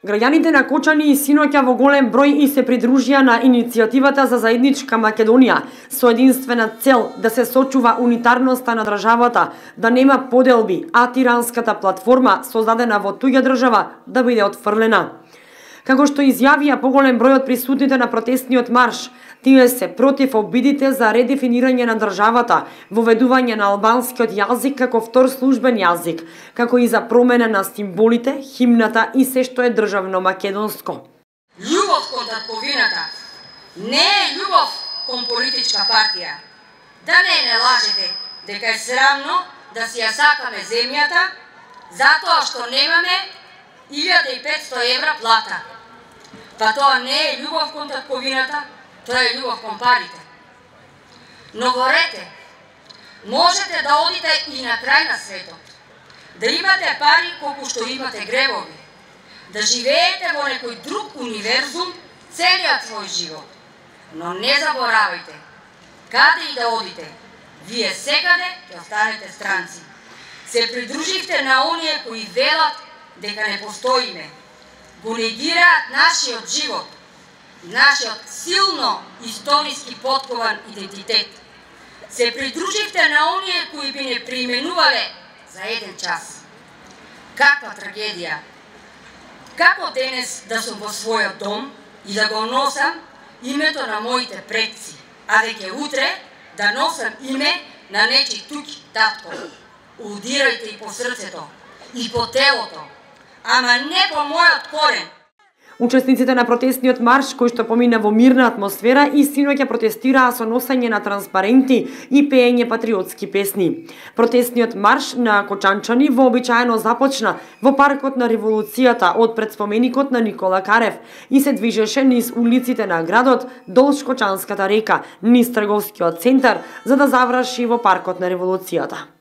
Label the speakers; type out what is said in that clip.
Speaker 1: Граѓаните на Кочани и синоќа во голем број и се придружија на иницијативата за заедничка Македонија со единствена цел да се сочува унитарноста на државата, да нема поделби, а тиранската платформа создадена во туѓа држава да биде отфрлена. Како што изјавија поголем број од присутните на протестниот марш, тие се против обидите за редефинирање на државата, воведување на албанскиот јазик како втор службен јазик, како и за промена на символите, химната и се што е државно македонско.
Speaker 2: Љубов кон татковината не е љубов кон политичка партија. Да не лажете дека е срамно да си ја сакаме земјата затоа што немаме 1500 евра плата. Па тоа не е љубов кон татковината, тоа е љубов кон парите. Но горете, можете да одите и на крај на светот, да имате пари колку што имате гревови, да живеете во некој друг универзум целиот свој живот. Но не заборавајте, каде и да одите, вие секаде ќе останете странци. Се придруживте на оние кои велат дека не постоиме, го негираат нашиот живот, нашиот силно историски поткован идентитет. Се придруживте на оние кои би не преименувале за еден час. Каква трагедија! Како денес да сум во својот дом и да го носам името на моите предци, а веќе утре да носам име на нечи туѓ татко. Удирајте и по срцето, и по телото, ама не по мојот корен.
Speaker 1: Учесниците на протестниот марш, кој што помина во мирна атмосфера, и синоќа протестираа со носење на транспаренти и пеење патриотски песни. Протестниот марш на кочанчани вообичаено започна во паркот на Револуцијата од пред споменикот на Никола Карев и се движеше низ улиците на градот долж Кочанската река, низ трговскиот центар, за да заврши во паркот на Револуцијата.